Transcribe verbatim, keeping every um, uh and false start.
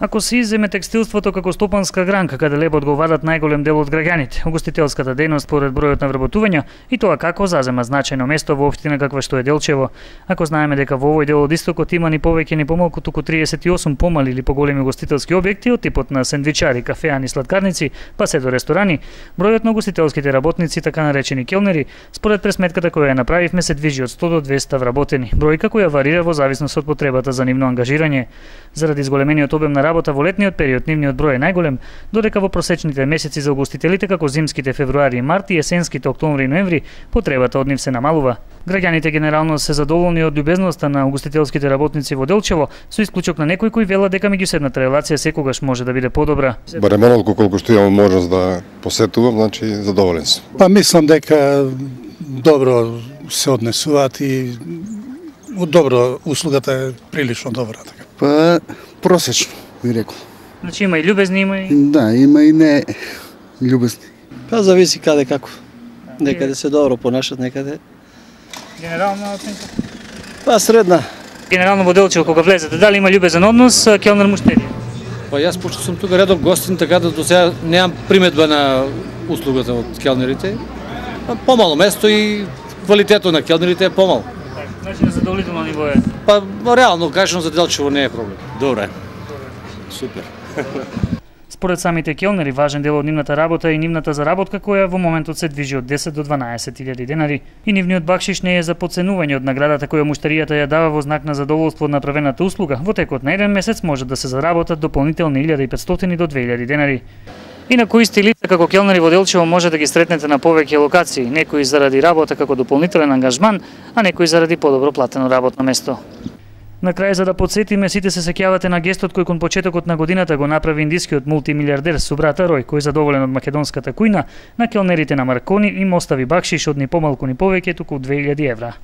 Ако се изземе текстилството како стопанска гранка, каде леб одговарат најголем дел од граѓаните, угостителската дејност според бројот на вработувања и тоа како зазема значајно место во општина каква што е Делчево. Ако знаеме дека во овој дел од истокот има ни повеќе ни помалку туку триесет и осум помали или поголеми угостителски објекти од типот на сендвичари, кафеани, сладкарници, па се до ресторани, бројот на угостителските работници, така наречени келнери, според пресметката која ја направивме, се движи од сто до двесте вработени, бројка која варира во зависност од потребата за нивно ангажирање. Заради зголемениот обем на работа во летниот период, нивниот број е најголем, додека во просечните месеци за угостителите како зимските февруари и март и есенските октомври и ноември потребата од нив се намалува. Граѓаните генерално се задоволни од љубезноста на угостителските работници во Делчево, со исклучок на некои кои велат дека меѓусебната релација секогаш може да биде подобра. Барем онолку колку што имам можност да посетувам, значи задоволен сум. Па мислам дека добро се однесуваат и добро услугата е прилично добра така. Па просечно би рекол. Значи има и љубезни, има и Да, има и не љубезни. Па зависи каде како. Некаде се добро понашат, некаде. Генерална оценка? Па средна. Генерално во Делчево кога влезете, дали има љубезен однос келнер муштери? Па јас пошто сум тука редов гостин, така да до сега немам приметба на услугата од келнерите. Помало место и квалитетот на келнерите е помал. Значи на задоволително ниво е. Па реално кажано за Делчево не е проблем. Добро е. Супер. Според самите келнери, важен дел од нивната работа е и нивната заработка која во моментот се движи од десет до дванаесет илјади денари. И нивниот бакшиш не е за потценување од наградата која муштеријата ја дава во знак на задоволство од направената услуга. Во текот на еден месец може да се заработат дополнителни илјада и петстотини до две илјади денари. Инаку исти лица како келнери во Делчево може да ги сретнете на повеќе локации, некои заради работа како дополнителен ангажман, а некои заради подобро платено работно место. На крај, за да подсетиме, сите се сеќавате на гестот кој кон почетокот на годината го направи индискиот мултимилиардер Субрата Рој, кој задоволен од македонската кујна, на келнерите на Маркони им остави бакшиш од ни помалку ни повеќе туку две илјади евра.